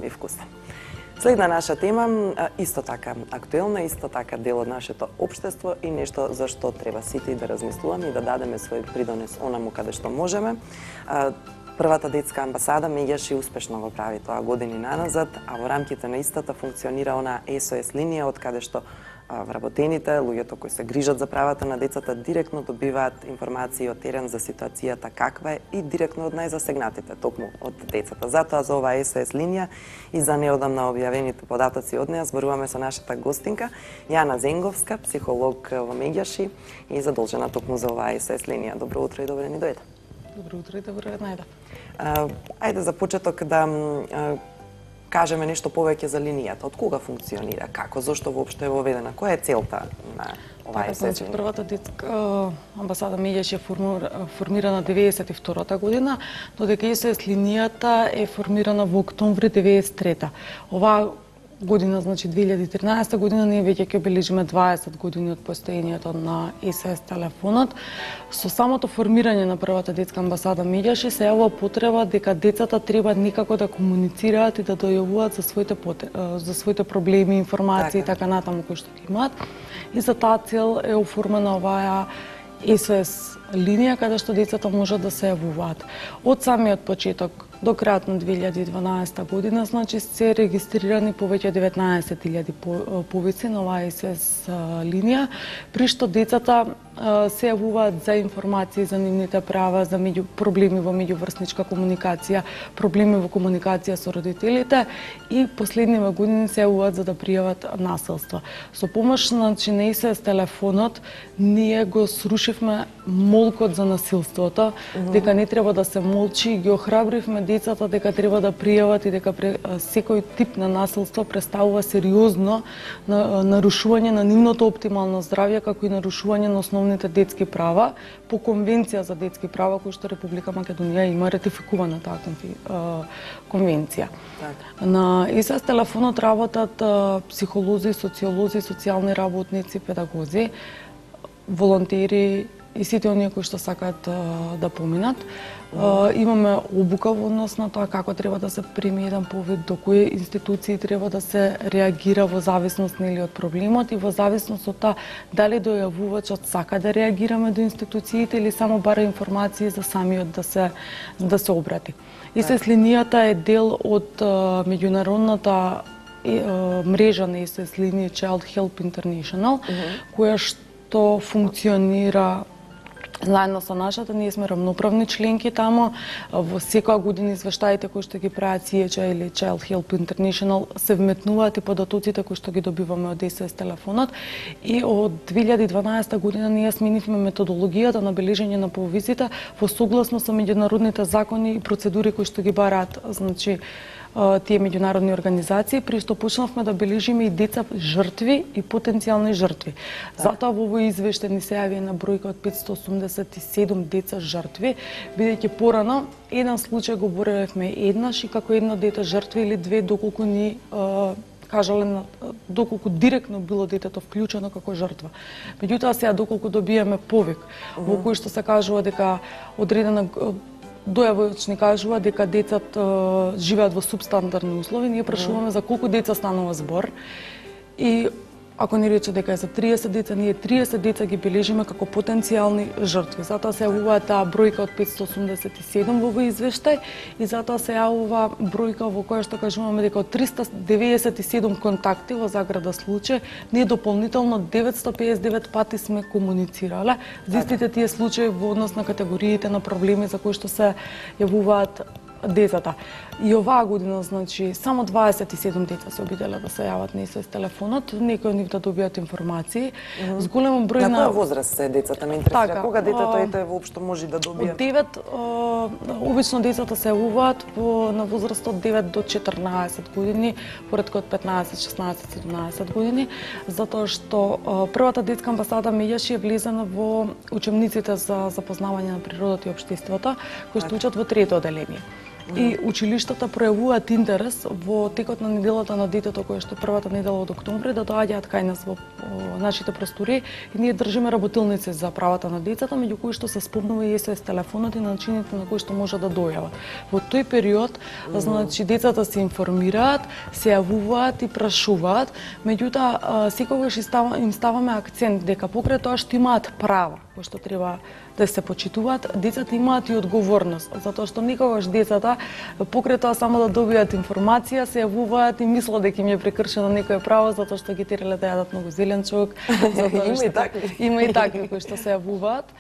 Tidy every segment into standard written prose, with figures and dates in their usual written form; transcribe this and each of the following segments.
и вкусен. Следна наша тема, исто така актуелна, исто така дел од нашето општество и нешто за што треба сите да размислуваме и да дадеме свој придонес онаму каде што можеме. Првата детска амбасада меѓаш и успешно го прави тоа години наназад, а во рамките на истата функционира она SOS линија од каде што вработените, луѓето кои се грижат за правата на децата, директно добиваат информации од терен за ситуацијата каква е и директно од најзасегнатите, токму од децата. Затоа за оваа SOS линија и за неодамна објавените податоци од неа зборуваме со нашата гостинка Јана Зенговска, психолог во Меѓаши и задолжена токму за оваа SOS линија. Добро утро и добре ни дојде. Добро утро и добро најде. Ајде за почеток да кажеме нешто повеќе за линијата. Од кога функционира? Како? Зошто воопшто е воведена? Која е целта на оваа SOS линија? Првата детска амбасада Меѓаш е формирана 92-та година, додека SOS линијата е формирана во октомври 93-та. Оваа година, значи 2013 година, ние веќе ќе обележиме 20 години од постоењето на SOS телефонот. Со самото формирање на првата детска амбасада Меѓаши се јавува потреба дека децата треба некако да комуницираат и да дојавуваат за своите проблеми, информации и така натаму кои што ги имаат. И за таа цел е оформена оваа SOS линија каде што децата можат да се јавуваат. Од самиот почеток до крајот на 2012 година, значи се регистрирани повеќе 19.000 повици на оваа SOS линија, при што децата се јавуваат за информации за нивните права, за проблеми во меѓуврсничка комуникација, проблеми во комуникација со родителите и последниве години се јавуваат за да пријават насилство. Со помош на SOS телефонот ние го срушивме молкот за насилството, дека не треба да се молчи, ги охрабривме децата дека треба да пријават и дека секој тип на насилство представува сериозно нарушување на нивното оптимално здравје, како и нарушување на основните детски права по Конвенција за детски права, кој што Република Македонија има ратификувана таа конвенција. На SOS телефонот работат психолози, социолози, социјални работници, педагози, волонтери и сите оние кои што сакаат да поминат. Имаме обука во однос на тоа како треба да се прими еден повик, до кои институции треба да се реагира во зависност од проблемот и во зависност од тоа дали дојавувачот сака да реагираме до институциите или само бара информации за самиот да се обрати. SOS линијата е дел од меѓународната мрежа на SOS линии Child Help International, која што функционира заедно со нашата. Ние сме рамноправни членки таму. Во секоја година извештаите кои што ги прават CHA или Child Help International се вметнуваат и податоците кои што ги добиваме од SOS телефонот. И од 2012 година ние сменивме методологијата на бележење на повиците во согласно со меѓународните закони и процедури кои што ги бараат, значи тие меѓународни организации, при што почнавме да бележиме и деца жртви и потенцијални жртви. Затоа во овој извештај ни се јави една бројка од 587 деца жртви, бидејќи порано еден случај го боревме еднаш и како едно дете жртви или две, доколку ни кажале доколку директно било детето вклучено како жртва. Меѓутоа сега доколку добиеме повик во кој што се кажува дека одредена дојавач ни кажува дека децата живеат во субстандардни услови, ние прашуваме за колку деца станува збор и ако ни рече дека е за 30 деца, ние 30 деца ги бележиме како потенцијални жртви. Затоа се јавува таа бројка од 587 во овој извештај и затоа се јавува бројка во која што кажуваме дека од 397 контакти во заграда случај, ние дополнително 959 пати сме комуницирале за истите тие случаи во однос на категориите на проблеми за кои што се јавуваат децата. И оваа година, значи, само 27 деца се обиделе да се јават на SOS телефонот, некои од нив да добијат информации. С голем број на која возраст се децата, ме интересира? Кога детето воопшто може да добие? Од 9, обично децата се јавуваат на возраст од 9 до 14 години, поредко од 15, 16, 17 години, затоа што првата детска амбасада Меѓаши е влезена во учебниците за запознавање на природата и општеството, кои што учат во трето оделение. И училиштата пројавуваат интерес во текот на неделата на детето, која што првата недела од октомври, да доаѓаат кај нас во нашите простори и ние држиме работилници за правата на децата, меѓу кои што се спомнува и СОС телефонот и начините на кои што може да дојават. Во тој период, значи децата се информираат, се јавуваат и прашуваат, меѓутоа секогаш им ставаме акцент дека покрај тоа што имаат права, кои што треба да се почитуваат, децата имаат и одговорност, затоа што никогаш децата покрај тоа само да добијат информација се јавуваат и мислат дека им е прекршено некое право затоа што ги терале да јадат многу зеленчук, затоа што има и такви кои што се јавуваат,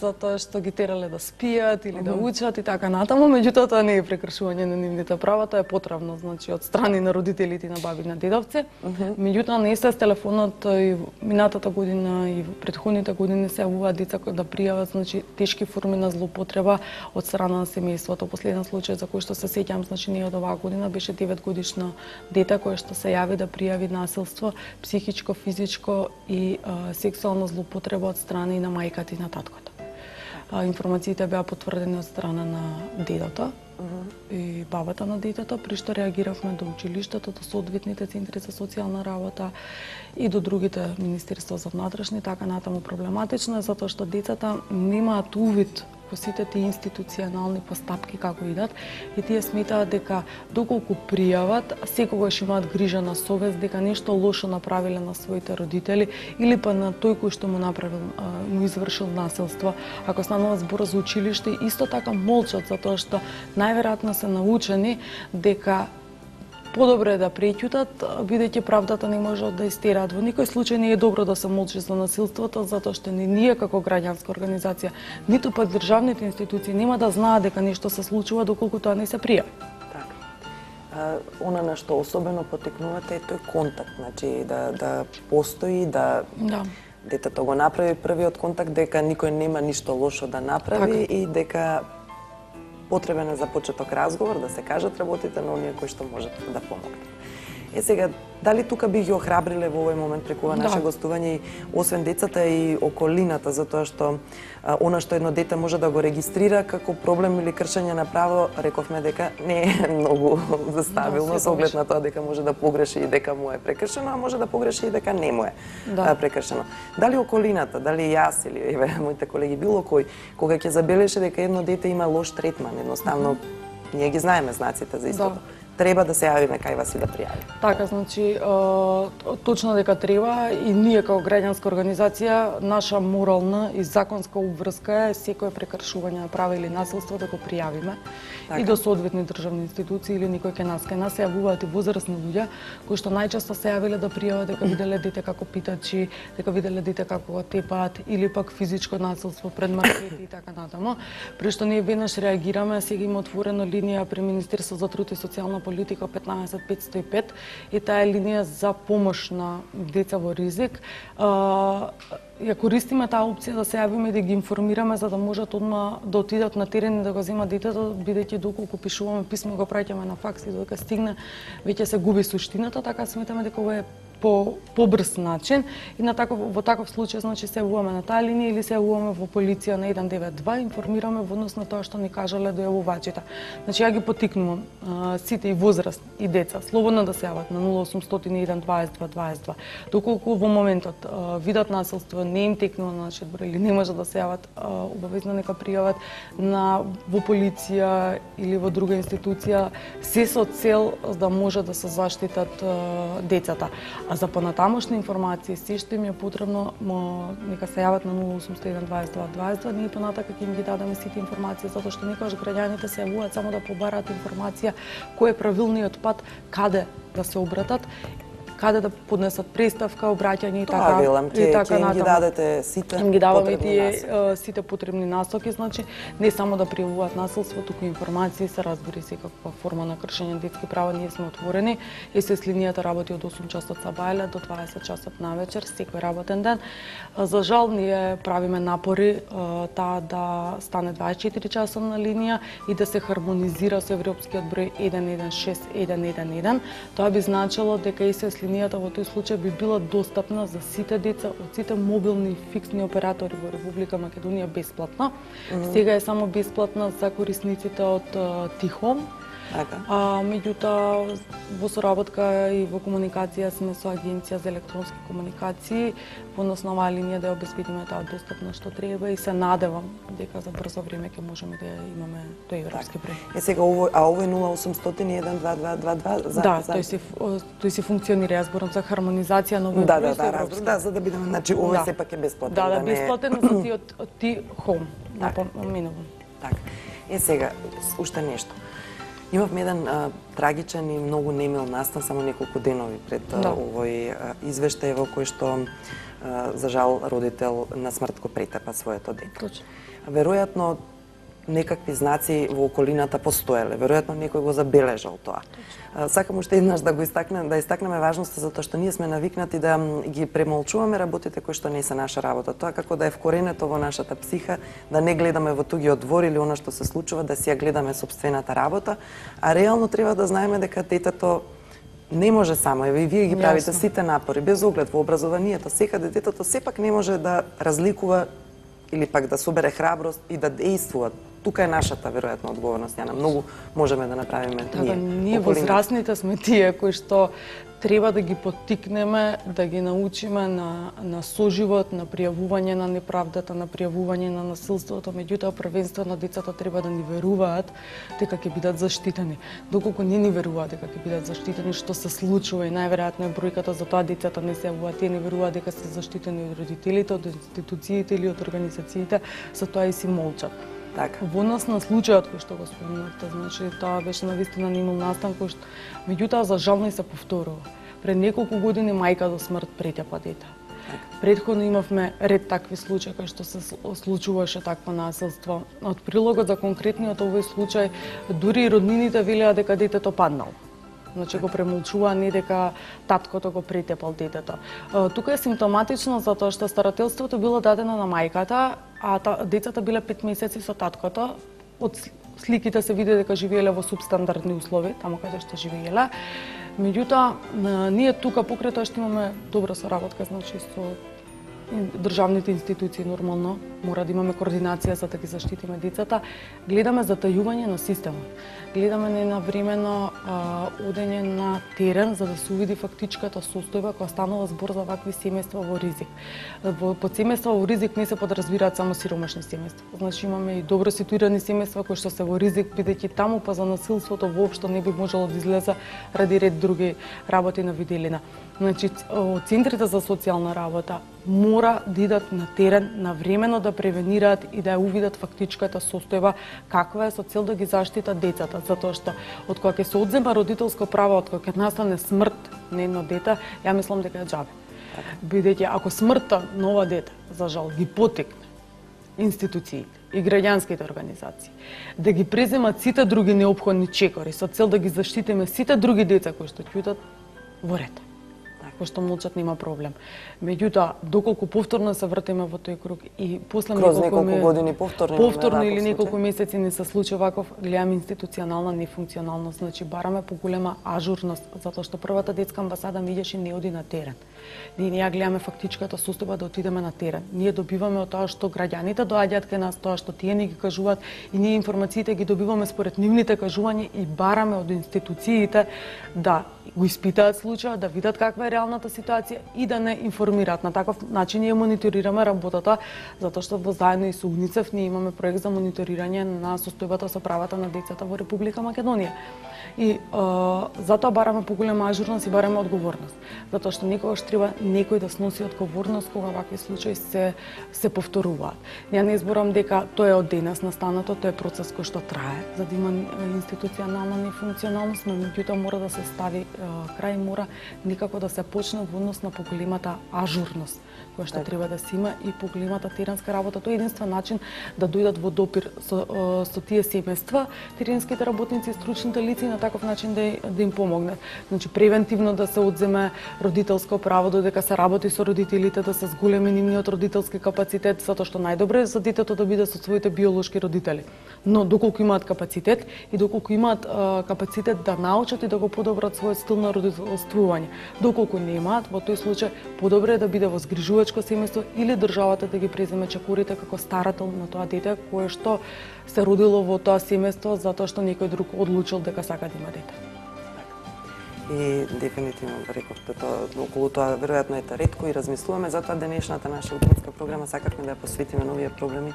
затоа што ги терале да спијат или да учат и така натаму, меѓутоа тоа не е прекршување на нивните права, тоа е потребно, значи од страни на родителите и на баби на дедовци. Меѓутоа на СОС телефонот и минатата година и претходните години се јавуваат деца да пријават, значи тешки форми на злоупотреба од страна на семејството. Последен случај за кој што се сеќам, значи не од оваа година, беше 9-годишно дете кое што се јави да пријави насилство, психичко, физичко и сексуална злоупотреба од страна и на мајката и на таткото. Информациите беа потврдени од страна на дедото и бабата на детето, при што реагиравме до училиштето, до соодветните центри за социјална работа и до другите министерства за внатрешни, така натаму. Проблематично е затоа што децата немаат увид во сите тие институционални постапки како идат и тие сметаат дека доколку пријават, секогаш имаат грижа на совест дека нешто лошо направиле на своите родители или па на тој кој што му му извршил насилство. Ако станува збор за училиште, исто така молчат затоа што најверојатно се научени дека подобро е да преќутат, бидејќи правдата не може да истераат. Во никој случај не е добро да се молчи за насилството, затоа што не ние како граѓанска организација, ниту пак државните институции нема да знаат дека нешто се случува доколку тоа не се пријави. Така. Она на што особено потекнувате е тој контакт, значи да постои, да детето го направи првиот контакт, дека никој нема ништо лошо да направи и дека потребен е за почеток разговор, да се кажат работите на оние кои што можат да помогнат. Сега, дали тука би ги охрабриле во овој момент преку наше гостување и освен децата и околината, затоа што она што едно дете може да го регистрира како проблем или кршење на право, рековме дека не е многу стабилно со оглед на тоа дека може да погреши и дека му е прекршено, а може да погреши и дека не му е прекршено. Дали околината, дали јас или моите колеги, било кој, кога ќе забележи дека едно дете има лош третман, едноставно ние ги знаеме знаците за истото. Треба да се јавиме кај вас и да пријавиме. Така, значи, точно дека треба и ние како граѓанска организација, наша морална и законска обврска е секое прекршување на права или насилство да го пријавиме и до соодветни државни институции или никој кај нас. Кај нас се јавуваат и возрастни луѓе кои што најчесто се јавиле да пријават дека виделе дете како питачи, дека виделе дете како го тепаат или пак физичко насилство пред маркети и така натаму. При што ние веднаш реагираме, сега има отворена линија при Министерство за труд и социјална политика 15505 и таа е линија за помош на деца во ризик. Ја користиме таа опција да се јавиме и да ги информираме за да можат одма да отидат на терен и да го земат детето, бидејќи доколку пишуваме писмо го праќаме на факс и додека стигне веќе се губи суштината, така сметаме дека ова е побрз начин и во таков случај значи се јавуваме на таа линија или се јавуваме во полиција на 192, информираме во однос на тоа што ни кажале дојавувачите. Значи ја ги поттикнувам сите и возраст и деца слободно да се јават на 0801 22 22. Доколку во моментот видат насилство, не им текнува на нашиот број или не може да се јават, обавезно нека пријават во полиција или во друга институција, се со цел да може да се заштитат децата. А за понатамошни информации, се што им е потребно, нека се јават на 0801 22 22, ние понатака ќе им ги дадеме сите информации, затоа што некогаш граѓаните се јавуваат само да побараат информација кој е правилниот пат, каде да се обратат, каде да поднесат преставка, обраќање и така. Тоа велам, ќе им ги дадете сите им ги даваме тие сите потребни насоки, значи не само да пријавуваат насилство, туку информации се разбери секаква форма на кршење на детски права, ние сме отворени и СОС линијата работи од 8 часот сабајле до 20 часот навечер, секој работен ден. За жал ние правиме напори таа да стане 24 часовна линија и да се хармонизира со европскиот број 116 111. Тоа би значило дека СОС линијата во тој случај би била достапна за сите деца од сите мобилни и фиксни оператори во Република Македонија бесплатно. Сега е само бесплатна за корисниците од Тихом. Меѓутоа, во соработка и во комуникација сме со Агенција за електронски комуникации, во основа линија да ја обезбедиме таа достапност што треба и се надевам дека за брзо време ќе можеме да имаме тој европски број. Сега ово е 0800-122222 за... Да, тој си функционира, јас зборам за хармонизација на овој број. Да, за да бидеме, значи овој сепак е бесплатен. Да, бесплатен за ти од Home, напоменувам. Така. Сега, уште нешто. Имавме еден трагичен и многу немил настан само неколку денови пред овој извештај во кој што за жал родител на смрт го претепа своето дете. Точно. Веројатно некакви знаци во околината постоеле, веројатно некој го забележал тоа. Сакам уште еднаш да истакнеме важноста затоа што ние сме навикнати да ги премолчуваме работите кои што не се наша работа. Тоа како да е вкоренето во нашата психа, да не гледаме во тугиот двор или она што се случува, да си ја гледаме сопствената работа, а реално треба да знаеме дека детето не може само, и вие ги правите сите напори, без оглед во образованието, секаде детето сепак не може да разликува или пак да собере храброст и да действува. Тука е нашата веројатно одговорност, Јана. Многу можеме да направиме ние. Ние возрастните сме тие кои што треба да ги поттикнеме, да ги научиме на соживот, на пријавување на неправдата, на пријавување на насилството, меѓутоа првенствено децата треба да ни веруваат дека ќе бидат заштитени. Доколку не ни веруваат дека ќе бидат заштитени, што се случува и најверојатно е бројката за тоа децата не се јавуваат, тие не веруваат дека се заштитени од родителите, од институциите или од организациите, за тоа и си молчат. Така. Во однос на случајот кој што го спомнавте, значи тоа беше навистина немил настан кој што меѓутоа за жал не се повторува. Пред неколку години мајка до смрт претепа дете. Претходно имавме ред такви случаи кои што се случуваше такво насилство. Од прилогот за конкретниот овој случај дури и роднините велеа дека детето паднало. Значи го премолчува, не дека таткото го претепал детето. Тука е симптоматично затоа што старателството било дадено на мајката, а децата биле 5 месеци со таткото. Од сликите се види дека живееле во субстандардни услови, таму каде што живееле. Меѓутоа, ние тука покрај тоа што имаме добра соработка, значи со државните институции нормално, мора да имаме координација за да ги заштитиме децата, гледаме затајување на системот. Гледаме ненавремено одење на терен за да се увиди фактичката состојба која станува збор за вакви семејства во ризик. Под семејства во ризик не се подразбираат само сиромашни семејства. Значи имаме и добро ситуирани семејства кои што се во ризик, бидејќи таму па за насилството воопшто не би можело да излезе ради ред други работи на виделина. Значи, центрите за социјална работа мора да идат на терен навремено да превенираат и да ја увидат фактичката состојба каква е со цел да ги заштитат децата, затоа што од кога ќе се одзема родителско право, од кога ќе настане смрт на едно дете, ја мислам дека е џабе. Бидејќи ако смртта на ова дете, за жал, ги потекне институциите и граѓанските организации, да ги преземат сите други неопходни чекори со цел да ги заштитиме сите други деца кои што ќутат, во ред. Кој што молчат нема проблем. Меѓутоа, доколку повторно се вртиме во тој круг и после неколку години повторно или неколку месеци не се случи ваков, гледаме институционална нефункционалност, значи бараме поголема ажурност, затоа што првата детска амбасада миѓаш и не оди на терен. Ние ја гледаме фактичката состојба да отидеме на терен. Ние добиваме од тоа што граѓаните доаѓаат кај нас, тоа што тие ни ги кажуваат и ние информациите ги добиваме според нивните кажувања и бараме од институциите да го испитаат случајот, да видат каква е реалната ситуација и да не информираат. На таков начин ние мониторираме работата, затоа што во заедно и со УНИЦЕФ ние имаме проект за мониторирање на состојбата со правата на децата во Република Македонија. И затоа бараме поголема ажурност и бараме одговорност. Затоа што некогаш треба некој да сноси одговорност кога вакви случаи се повторуваат. Ја не зборам дека тоа е од денес настанато, тоа е процес кој што трае, за да има институционална нефункционалност, но меѓутоа мора да се стави крај, мора никако да се почне во однос на поголемата ажурност која што треба да се има и поголемата теренска работа. Тоа е единствен начин да дојдат во допир со тие семејства, теренските работници и стручните лица и на таков начин да им помогнат. Значи превентивно да се одземе родителско право додека се работи со родителите, да се зголеми нивниот родителски капацитет, затоа што најдобро е за детето да биде со своите биолошки родители. Но доколку имаат капацитет и доколку имаат капацитет да научат и да го подобрат својот стил на родителствување. Доколку не имаат, во тој случај подобро е да биде во згрижувачко семејство или државата да ги преземе чекорите како старател на тоа дете кое што се родило во тоа семејство затоа што некој друг одлучил дека сака да има дете. И дефинитивно рековте тоа, околу тоа веројатно е ретко и размислуваме, затоа денешната наша утинска програма сакавме да ја посветиме на овие проблеми,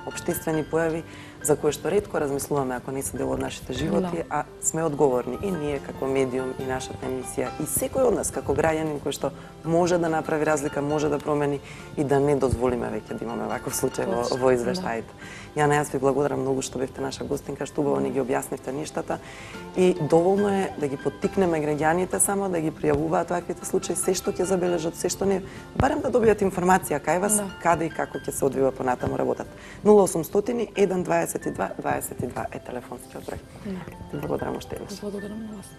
општествени појави за кои што ретко размислуваме ако не се дел од нашите животи, а сме одговорни и ние како медиум и нашата емисија и секој од нас како граѓанин кој што може да направи разлика, може да промени и да не дозволиме веќе да имаме ваков случај во извештаите. Јана, јас ви благодарам многу што бевте наша гостинка, што убаво ни ги објаснивте нештата и доволно е да ги поттикнеме граѓаните само да ги пријавуваат ваквите случаи, се што ќе забележат, се што не, барем да добијат информација кај вас, каде и како ќе се одвива понатаму работата. 0800 122 22 е телефонскиот број. Благодарам уште еднаш. Благодарам на вас.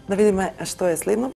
Да видиме што е следно.